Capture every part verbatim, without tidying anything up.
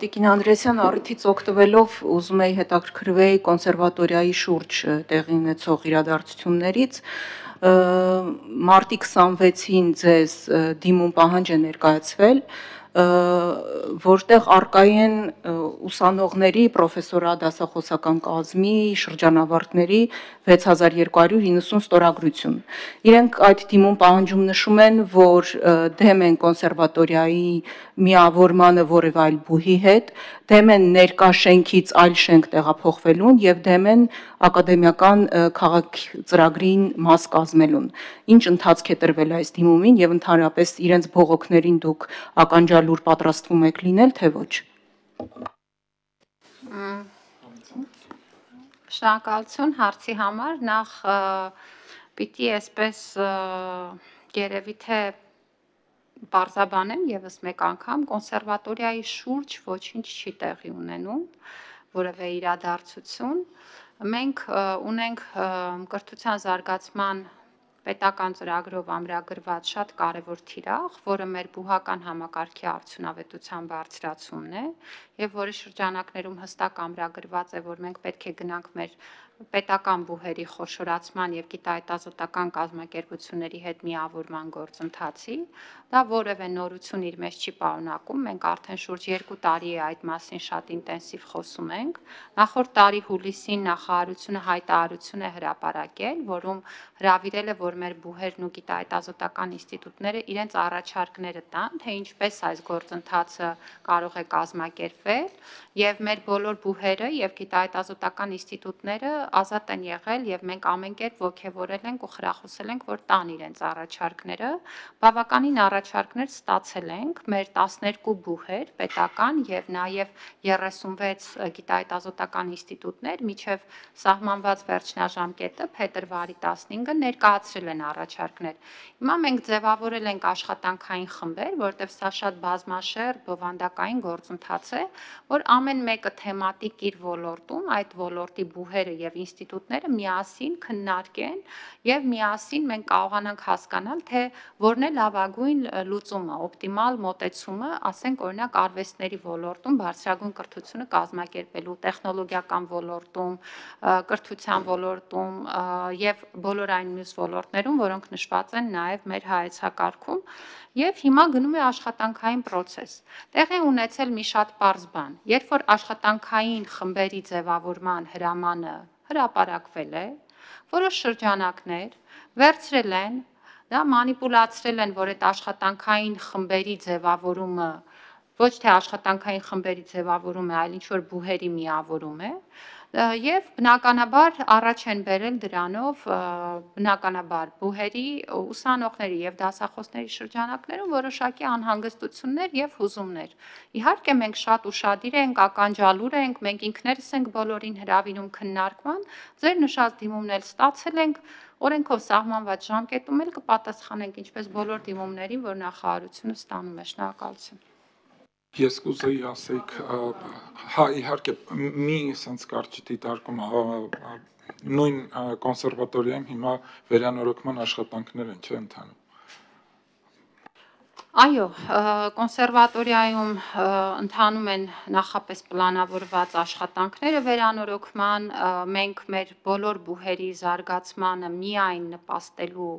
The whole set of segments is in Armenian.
Տիկին Անդրեասյան, առիթից օգտվելով ուզում էի հետաքրքրվեի կոնսերվատորիայի շուրջ տեղի ունեցող իրադարձություններից, մարտի քսանվեցին ձեզ դիմում պահանջ է ներկայացվել, որտեղ առկայի են ուսանողների, պրոֆեսորատ դասախոսական կազմի, շրջանավարտների վեց հազար երկու հարյուր հինգսուն ստորագրություն։ Իրենք այդ դիմում պահանջում նշում են, որ դեմ են կոնսերվատորիայի միավորմանը որևէ այլ բուհի հետ, դեմ են ներկա շենքից այլ շենք տեղափոխվելուն եւ դեմ են ակադեմիական քաղաք ծրագրին մաս կազմելուն։ Ինչ ընթացք է տրվել այս դիմումին եւ ընդհանրապես իրենց բողոքներին դուք ականջալուր պատրաստվում եք լինել, թե ոչ։ Շնորհակալություն հարցի համար, նախ պիտի այսպես երևի թե բարձաբանեմ եւս մեկ անգամ, կոնսերվատորիայի շուրջ ոչինչ չի տեղի ունենում, որևէ իրադարձություն։ Մենք ունենք կրթության զարգացման պետական ծրագրով ամրագրված շատ կարևոր թիրախ, որը մեր բուհական համակարգի արդյունավետության բարձրացումն է, եւ որի շրջանակներում հստակ ամրագրված է, որ մենք պետք է գնանք մեր պետական բուհերի խոշորացման եւ գիտահետազոտական կազմակերպությունների հետ միավորման գործընթացի, դա որևէ նորություն իր մեջ չի պարունակում, մենք արդեն շուրջ երկու տարի է այդ մասին շատ ինտենսիվ խոսում ենք։ Նախորդ տարի հուլիսին նախարարությունը հայտարարություն է հրապարակել, որում հրավիրել է, որ մեր բուհերն ու գիտահետազոտական ինստիտուտները իրենց առաջարկները տան, թե ինչպես այս գործընթացը կարող է կազմակերպվել, եւ մեր բոլոր բուհերը եւ գիտահետազոտական ինստիտուտները ազատ են եղել եւ մենք ամեն կերպ ոգևորել ենք ու խրախուսել ենք, որ տան իրենց առաջարկները։ Բավականին առաջարկներ ստացել ենք, մեր տասներկու բուհեր պետական եւ նաեւ երեսունվեց գիտահետազոտական ինստիտուտներ միջև սահմանված վերջնաժամկետը փետրվարի տասնհինգը ներկայացրել են առաջարկներ։ Հիմա մենք ձևավորել ենք աշխատանքային խմբեր, որտեղ սա շատ բազմաշերտ բովանդակային գործընթաց է, որ ամեն մեկը թեմատիկ իր ոլորտում, այդ ոլորտի բուհերը եւ ինստիտուտները միասին քննարկեն եւ միասին մենք կարողանանք հասկանալ, թե որն է լավագույն լուծումը, օպտիմալ մոտեցումը, ասենք օրինակ արվեստների ոլորտում բարձրագույն կրթությունը կազմակերպելու, տեխնոլոգիական ոլորտում, կրթության ոլորտում եւ բոլոր այն մյուս ոլորտներում, որոնք նշված են նաեւ մեր հայեցակարգում, եւ հիմա գնում է աշխատանքային process։ Տեղի ունեցել մի շատ պարզ բան, երբ որ աշխատանքային խմբերի ձևավորման հրամանը հրապարակվել է, որոշ շրջանակներ վերցրել են, դա մանիպուլացրել են, որ այդ աշխատանքային խմբերի ձևավորումը ոչ թե աշխատանքային խմբերի ձևավորում է, այլ ինչ-որ բուհերի միավորում է, եւ բնականաբար առաջ են բերել դրանով բնականաբար բուհերի, ուսանողների եւ դասախոսների շրջանակներում որոշակի անհանգստություններ եւ հուզումներ։ Իհարկե մենք շատ ուշադիր ենք, ականջալուր ենք, մենք ինքներս ենք բոլորին հրավիրում քննարկման, ձեր նշած դիմումն էլ ստացել ենք, օրենքով սահմանված ժամկետում էլ կպատասխանենք ինչպես բոլոր դիմումներին, որ նախարարությունը ստանում է։ Շնորհակալություն։ Ես կուզեի ասեիք, հա իհարկե մի sense կարճ դիտարկում նույն կոնսերվատորիայում հիմա վերանորոգման աշխատանքներ են, չէ՞ ընթանում։ Այո, կոնսերվատորիայում ընթանում են նախապես պլանավորված աշխատանքները վերանորոգման, մենք մեր բոլոր բուհերի զարգացմանը միայն նպաստելու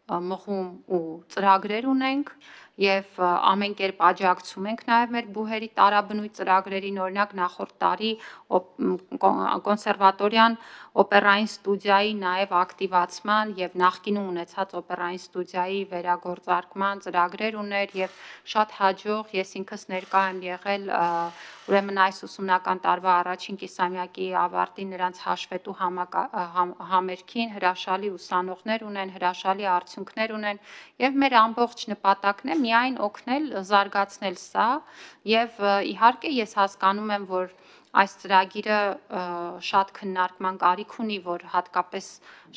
մղում ու ծրագրեր ունենք եւ ամեն կերպ աջակցում ենք նաեւ մեր բուհերի տարաբնույթ ծրագրերին, օրինակ նախորդ տարի կոնսերվատորիան օպերային ստուդիայի նաեւ ակտիվացման եւ նախկինում ունեցած օպերային ստուդիայի վերագործարկման ծրագրեր ուներ եւ շատ հաջող ես ինքս ներկա եմ եղել ուրեմն այս ուսումնական տարվա առաջին կիսամյակի ավարտին նրանց հաշվետու համերգին հրաշալի ուսանողներ ունեն, հրաշալի արդյունքներ ունեն եւ մեր ամբողջ նպատակն է միայն օգնել զարգացնել սա եւ իհարկե ես հասկանում եմ, որ այս ծրագիրը շատ քննարկման կարիք ունի, որ հատկապես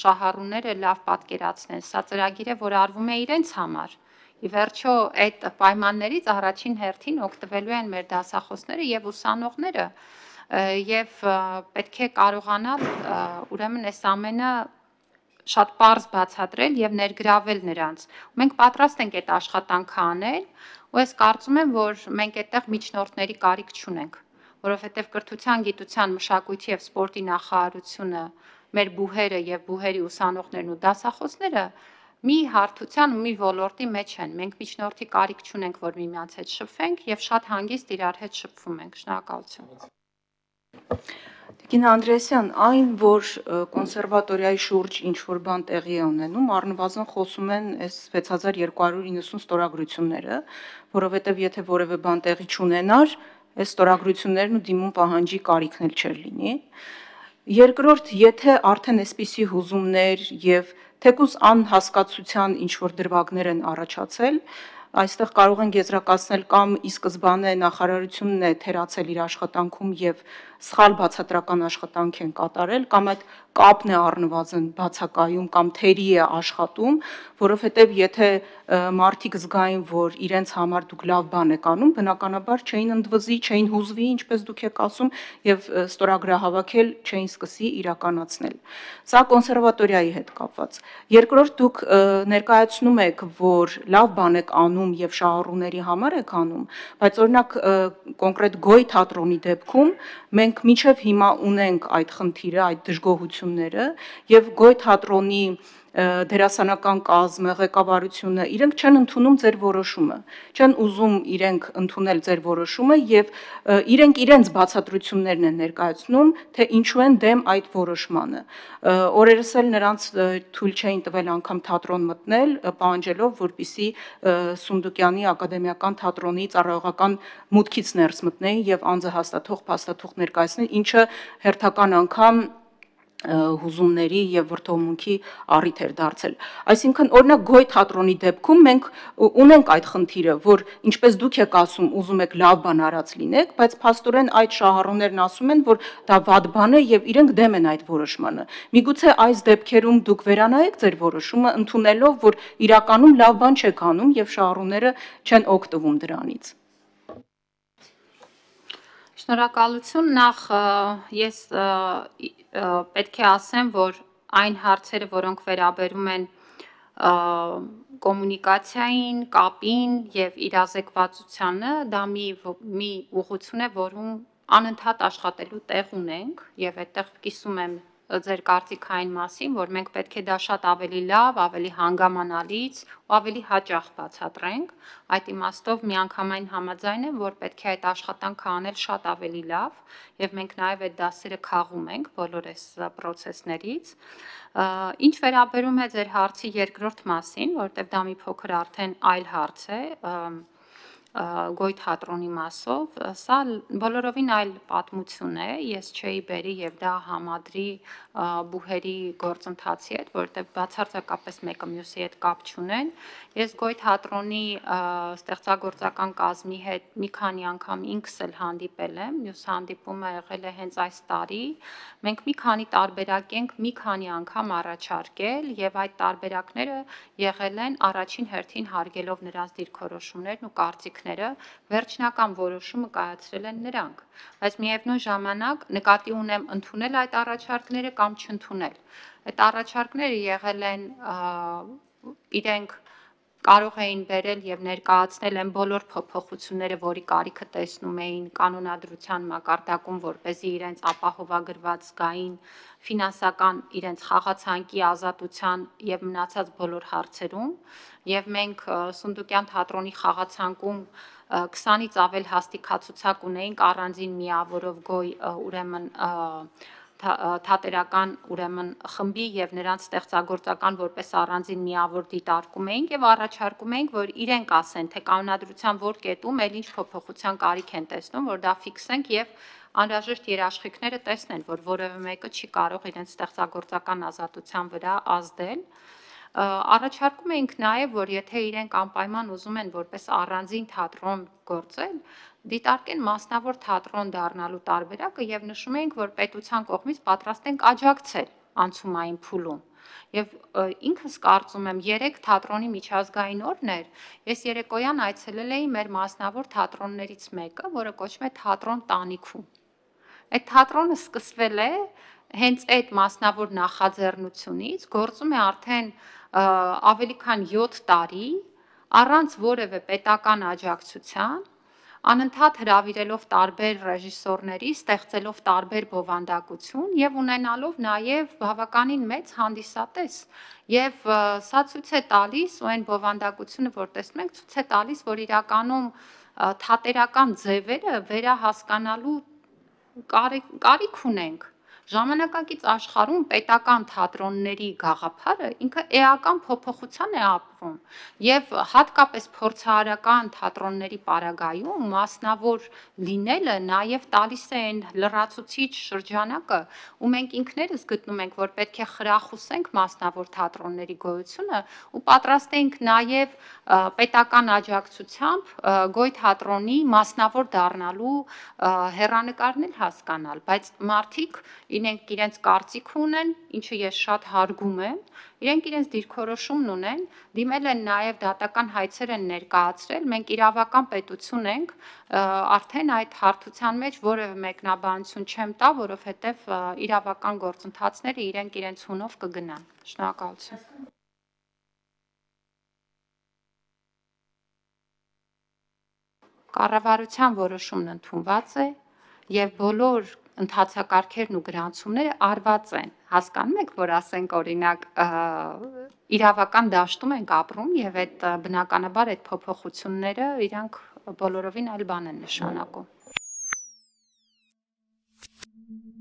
շահառուները լավ պատկերացնեն, սա ծրագիր է, որ արվում է իրենց համար։ Ի վերջո այդ պայմաններից առաջին հերթին օգտվելու են մեր դասախոսները եւ ուսանողները եւ պետք է կարողանալ ուրեմն այս ամենը շատ պարզ բացատրել եւ ներգրավել նրանց։ Մենք պատրաստ ենք այդ աշխատանքը անել, ու ես կարծում եմ, որ մենք այդտեղ միջնորդների կարիք չունենք, որովհետեւ կրթության, գիտության, մշակույթի եւ սպորտի նախարարությունը, մեր բուհերը եւ բուհերի ուսանողներն ու դասախոսները մի հարթության ու մի ոլորտի մեջ են։ Մենք միջնորդի կարիք չունենք, որ միմյանց հետ շփվենք եւ շատ հանգիստ իրար հետ շփվում ենք։ Շնորհակալություն։ Տիկին Անդրեասյան, այն, որ կոնսերվատորիայի շուրջ ինչ-որ բան տեղի է ունենում, առնվազն խոսում են այս վեց հազար երկու հարյուր իննսուն ստորագրությունները, որովհետև եթե որևէ բան տեղի չունենար, այս ստորագրություններն ու դիմում պահանջի կարիքն էլ չէր լինի։ Երկրորդ, եթե արդեն այսպիսի հուզումներ եւ թեկուզ անհասկացության ինչ-որ դրվագներ են առաջացել, այստեղ կարող են եզրակացնել կամ ի սկզբանե նախարարությունն է թերացել իր աշխատանքում եւ սխալ բացատրական աշխատանք են կատարել, կամ այդ կապն է առնվազն բացակայում կամ թերի է աշխատում, որովհետեւ եթե մարդիկ զգային, որ իրենց համար դուք լավ բան եք անում, բնականաբար չէին ընդվզի, չէին հուզվի, ինչպես դուք եք ասում, եւ ստորագրահավաքել չէին սկսի իրականացնել։ Սա կոնսերվատորիայի հետ կապված։ Երկրորդ, դուք ներկայացնում եք, որ լավ բան եք անում եւ շահառուների համար եք անում, բայց օրինակ կոնկրետ Գոյ թատրոնի դեպքում մենք մինչև հիմա ունենք այդ խնդիրը, այդ դժգոհությունները եւ Գոյ թատրոնի դերասանական կազմը, ղեկավարությունը, իրենք չեն ընդունում ձեր որոշումը, չեն ուզում իրենք ընդունել ձեր որոշումը եւ իրենք իրենց բացատրություններն են ներկայացնում, թե ինչու են դեմ այդ որոշմանը։ Օրերս էլ նրանց թույլ չէին տվել անգամ թատրոն մտնել, պահանջելով, որպեսզի Սունդուկյանի ակադեմիական թատրոնի ծառայողական մուտքից ներս մտնեին եւ անձը հաստատող փաստաթուղթ ներկայացնեն, ինչը հերթական անգամ հուզումների եւ վրդովմունքի առիթ էր դարձել։ Այսինքն, օրինակ Գոյ թատրոնի դեպքում մենք ունենք այդ խնդիրը, որ ինչպես դուք եք ասում, ուզում եք լավ բան արած լինեք, բայց փաստորեն այդ շահառուներն ասում են, որ դա վատ բան է եւ իրենք դեմ են այդ որոշմանը։ Միգուցե այս դեպքերում դուք վերանայեք ձեր որոշումը, ընդունելով, որ իրականում լավ բան չեք անում եւ շահառուները չեն օգտվում դրանից։ Շնորհակալություն, նախ ես պետք է ասեմ, որ այն հարցերը, որոնք վերաբերում են կոմունիկացիային, կապին եւ իրազեկվածությանը, դա մի մի ուղղություն է, որում անընդհատ աշխատելու տեղ ունենք եւ այդտեղ կիսում եմ ձեր կարծիքային մասին, որ մենք պետք է դա շատ ավելի լավ, ավելի հանգամանալից ու ավելի հաճախ բացատրենք։ Այդ իմաստով միանգամայն համաձայն եմ, որ պետք է այդ աշխատանքը անել շատ ավելի լավ եւ մենք նաեւ այդ դասերը քաղում ենք բոլոր այս process-ներից։ Ինչ վերաբերում է ձեր հարցի երկրորդ մասին, որտեղ դա մի փոքր արդեն այլ հարց է, Գոյ թատրոնի մասով, սա բոլորովին այլ պատմություն է, ես չէի բերի եւ դա համադրի բուհերի գործընթացի հետ, որտեղ բացարձակապես մեկը մյուսի հետ կապ չունեն։ Ես Գոյ թատրոնի ստեղծագործական կազմի հետ մի քանի անգամ ինքս էլ հանդիպել եմ, մյուս հանդիպումը եղել է հենց այս տարի։ Մենք մի քանի տարբերակ ենք մի քանի անգամ առաջարկել եւ այդ տարբերակները եղել են առաջին հերթին հարգելով նրանց դիրքորոշումներն ու կարծիքները, վերջնական որոշումը կայացրել են նրանք, բայց միևնույն ժամանակ նկատի ունեմ ընդունել այդ առաջարկները կամ չընդունել։ Այդ առաջարկները եղել են իրենք կարող էին բերել եւ ներկայացնել են բոլոր փոփոխությունները, որի կարիքը տեսնում էին կանոնադրության մակարդակում, որպեսզի իրենց ապահովագրված զգային ֆինանսական իրենց խաղացանկի ազատության եւ մնացած բոլոր հարցերում, եւ մենք Սունդուկյան թատրոնի խաղացանկում քսանից ավել հաստիկացուցակ ունեինք առանձին միավորով Գոյ ուրեմն թատերական ուրեմն խմբի եւ նրանց ստեղծագործական որպես առանձին միավոր դիտարկում էինք եւ առաջարկում էինք, որ իրենք ասեն, թե կանոնադրության որ կետում էլ ինչ փոփոխության կարիք են տեսնում, որ դա ֆիքսենք եւ անհրաժեշտ երաշխիքները տեսնեն, որ որևէ մեկը չի կարող իրենց ստեղծագործական ազատության վրա ազդել։ Առաջարկում էինք նաեւ, որ եթե իրենք անպայման ուզում են որպես առանձին թատրոն գործել, դիտարկեն մասնավոր թատրոն դառնալու տարբերակը եւ նշում էինք, որ պետության կողմից պատրաստ ենք աջակցել անցումային փուլում։ Եվ ինքս կարծում եմ երեք թատրոնի միջազգային օրն էր, ես երեկոյան այցելել էի մեր մասնավոր թատրոններից մեկը, որը կոչվում է Թատրոն Տանիքում։ Այդ թատրոնը սկսվել է հենց այդ մասնավոր նախաձեռնությունից գործում է արդեն ավելի քան յոթ տարի առանց որևէ պետական աջակցության, անընդհատ հրավիրելով տարբեր ռեժիսորների, ստեղծելով տարբեր բովանդակություն եւ ունենալով նաեւ բավականին մեծ հանդիսատես։ Եվ սա ցույց է տալիս, ու այն բովանդակությունը, որ տեսնում ենք, ցույց է տալիս, որ իրականում թատերական ձևերը վերահասկանալու կարիք ունենք։ Ժամանակակից աշխարհում պետական թատրոնների գաղափարը ինքը էական փոփոխության է ապրում եւ հատկապես փորձարարական թատրոնների պարագայում մասնավոր լինելը նաեւ տալիս է այն լրացուցիչ շրջանակը, ու մենք ինքներս գտնում ենք, որ պետք է խրախուսենք մասնավոր թատրոնների գոյությունը ու պատրաստ ենք նաեւ պետական աջակցությամբ Գոյ թատրոնի մասնավոր դառնալու հեռանկարներ հասկանալ, բայց մարդիկ իրենք իրենց կարծիք ունեն, ինչը ես շատ հարգում եմ, իրենք իրենց դիրքորոշումն ունեն, դիմել են նաև դատական հայցեր են ներկայացրել, մենք իրավական պետություն ենք, արդեն այդ հարթության մեջ որևէ մեկնաբանություն չեմ տա, որովհետև իրավական գործընթացները իրենք իրենց հունով կգնան։ Շնորհակալություն։ Կառավարության որոշումն ընդունված է եւ բոլոր ընթացակարգերն ու գրանցումները արված են։ Հասկանում եք, որ ասենք օրինակ իրավական դաշտում ենք ապրում եւ այդ բնականաբար այդ փոփոխությունները իրանք բոլորովին այլ բան են նշանակում։